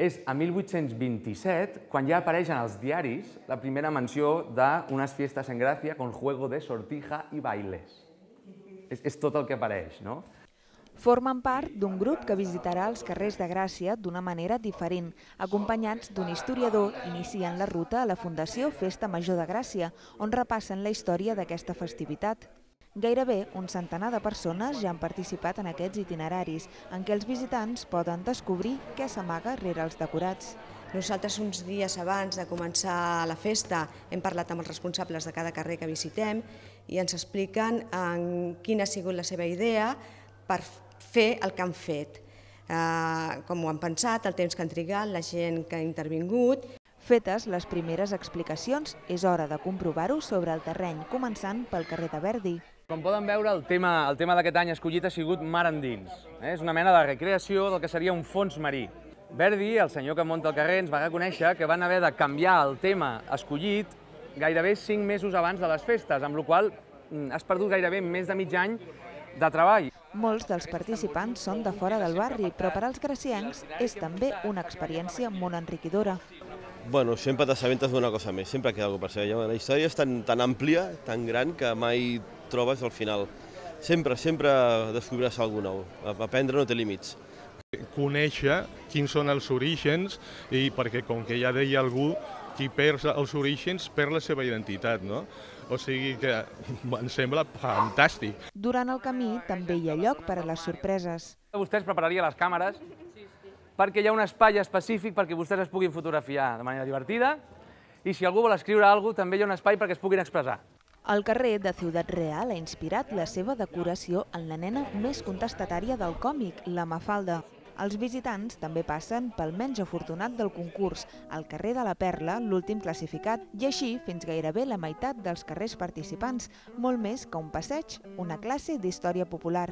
És a 1827 quan ja apareix en els diaris la primera menció d'unes fiestas en Gràcia con juego de sortija i bailes. És tot el que apareix, no? Formen part d'un grup que visitarà els carrers de Gràcia d'una manera diferent. Acompanyats d'un historiador, inicien la ruta a la Fundació Festa Major de Gràcia, on repassen la història d'aquesta festivitat. Gairebé un centenar de persones ja han participat en aquests itineraris, en què els visitants poden descobrir què s'amaga rere els decorats. Nosaltres, uns dies abans de començar la festa, hem parlat amb els responsables de cada carrer que visitem i ens expliquen quina ha sigut la seva idea per fer el que han fet, com ho han pensat, el temps que han trigat, la gent que ha intervingut. Fetes les primeres explicacions, és hora de comprovar-ho sobre el terreny, començant pel carrer de Verdi. Com poden veure, el tema d'aquest any escollit ha sigut mar endins. És una mena de recreació del que seria un fons marí. Verdi, el senyor que munta el carrer, ens va reconèixer que van haver de canviar el tema escollit gairebé 5 mesos abans de les festes, amb la qual cosa has perdut gairebé més de mig any de treball. Molts dels participants són de fora del barri, però per als graciencs és també una experiència molt enriquidora. Bueno, sempre t'assabentes d'una cosa més, sempre queda alguna cosa per saber. La història és tan àmplia, tan gran, que mai trobes al final. Sempre descobriràs alguna nou. Aprendre no té límits. Conèixer quins són els orígens, i perquè, com que ja deia algú, qui perd els orígens perd la seva identitat, no? O sigui que em sembla fantàstic. Durant el camí també hi ha lloc per a les sorpreses. Vostès prepararia les càmeres perquè hi ha un espai específic perquè vostès es puguin fotografiar de manera divertida i si algú vol escriure alguna cosa també hi ha un espai perquè es puguin expressar. El carrer de Ciutat Real ha inspirat la seva decoració en la nena més contestatària del còmic, la Mafalda. Els visitants també passen pel menys afortunat del concurs, el carrer de la Perla, l'últim classificat, i així fins gairebé la meitat dels carrers participants, molt més que un passeig, una classe d'història popular.